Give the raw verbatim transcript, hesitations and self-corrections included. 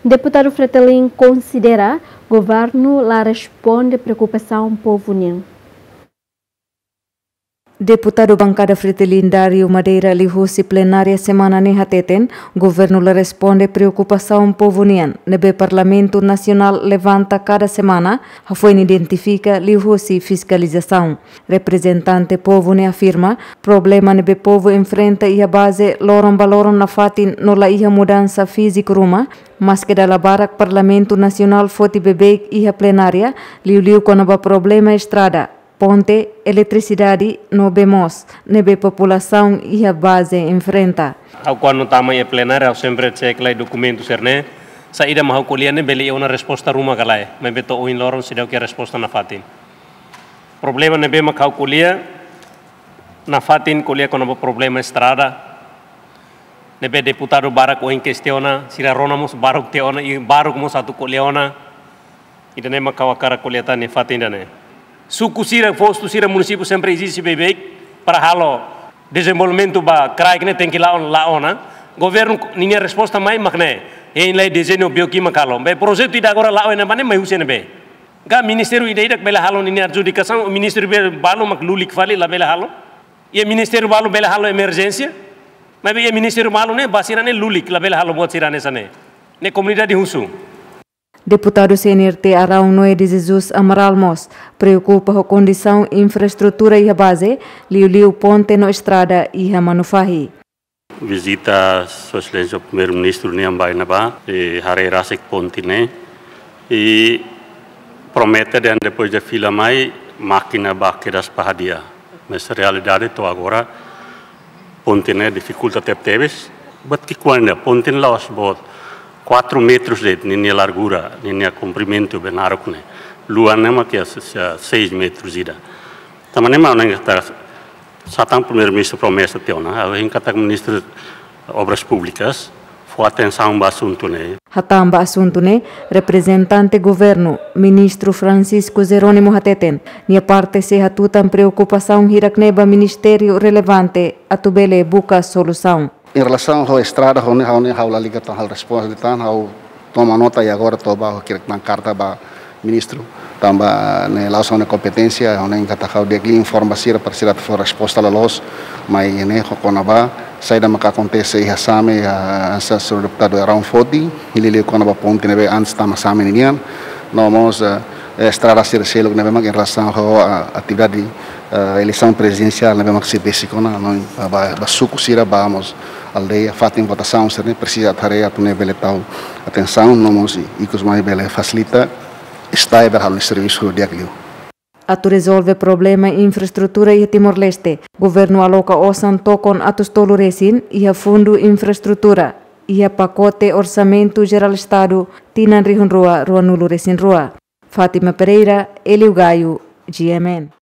Deputadu Fretilin konsidera governu la responde preokupasaun povu nian. Deputadu Bankada Fretilin Dario Madeira liuhusi plenária semana ne'e hateten, governu la responde preokupasaun povu nian ne'ebé Parlamentu Nasionál levanta kada semana, hafoin identifika liuhusi fiskalizasaun. Reprezentante povu ne'e afirma, problema ne'ebé povu enfrenta iha baze loron ba loron nafatin no la iha mudansa fíziku ruma, maske dala barak Parlamentu Nasionál foti beibeik iha plenária, liuliu kona-ba problema estrada, ponte, eletrisidade no bee moos, ne'ebé populasaun iha baze enfrenta. Ha'u kuandu tama iha plenária, ha'u sempre cek lai dokumentu sira-ne'e. Saida mak ha'u ko'alia ne'e bele iha ona resposta ruma ka lae, maibé to'o ohin loron seidauk iha resposta nafatin. Problema ne'ebé mak ha'u ko'alia, nafatin ko'alia kona-ba problema estrada. Ne'ebé deputadu barak ohin kestiona, sira rona mós barak tiha ona, i barak mós atu ko'alia ona. Ida-ne'e mak ha'u hakarak ko'alia tan iha fatin ida-ne'e. Suku sira, postu sira, munisípiu sempre ezije beibeik para halo dezenvolvimentu ba kraik ne'e tenke la'o, la'o ona. Governu ninia resposta mai mak ne'e. Hein lai dezeñu bioki mak halo. Be projetu ida agora la'o iha ne'ebá ne'e mai husi ne'ebé? Ka ministériu ida-idak bele halo ninia adjudikasaun, ministériu be balu mak lulik fali la bele halo. Iha ministériu balu bele halo emerjénsia. Maibé iha ministériu balu ne'e ba sira-ne'e lulik la bele halo buat sira-ne'e hanesan ne'e. Ne'e komunidade husu. Deputadu C N R T Arão Noé de Jesus Amaral mós preokupa ho kondisaun infraestrutura iha baze, liuliu ponte no estrada iha Manufahi. Vizita Sua Exelénsia Primeiru-Ministru nian ba iha ne'ebá, i haree rasik ponte ne'e. I promete dehan depois de fila mai, mákina ba kedas ba hadi'a. Mas realidade to'o agora, ponte ne'e difikulta tebetebes. Buat ki'ikoan ida, ponte ne'e la'ós boot, quatro metros de'it ninia largura, ninia komprimentu be naruk ne'e. Luan ne'e mak iha se-, se-, seis metros ida. Tanba ne'e mak ha'u hanoin katak, sá tan Primeiru-Ministru promesa tiha ona, ha'u hein katak Ministru Obras Públikas fó atensaun ba asuntu ne'e. Hatán ba asuntu ne'e, reprezentante governu, Ministru Francisco Jerónimo hateten, nia parte sei hatutan preokupasaun hirak-ne'e ba ministériu relevante atu bele buka solusaun. Em relação à estrada, ha'u ne'e, ha'u ne'e, ha'u la liga tan, ha'u responde tan, ha'u toma nota i agora to'o ba, ha'u ki'ik tan karta ba ministru, tanba ne'e la'ós ha'u-nia kompeténsia, ha'u hanoin katak ha'u di'ak liu informa sira, para sira atu fó resposta loloos, mai ne'e ho kona-ba saida maka akontese iha Same, iha hanesan señór deputadu Arão foti, i liuliu kona-ba ponte ne'ebé antes tama Same ninian, no mós, eh, estrada sira seluk ne'ebé mak em relação ho, ah, atividade, ah, eleisaun prezidensiál ne'ebé mak sei besik ona, no, ah, ba, ba suku sira, ba mós aldeia, fatin votasaun sira-ne'e presiza atu haree atu nune'e bele tau atensaun, no mós i, ikus mai bele fasilita, estae bele halo servisu di'ak liu. Atu rezolve problema infraestrutura iha Timor-Leste, governu aloka osan tokon atus tolu resin iha Fundu Infraestrutura, iha pakote Orsamentu Jerál Estadu tinan rihun rua ruanulu resin rua. Fátima Pereira, Hélio Gaio, G M N.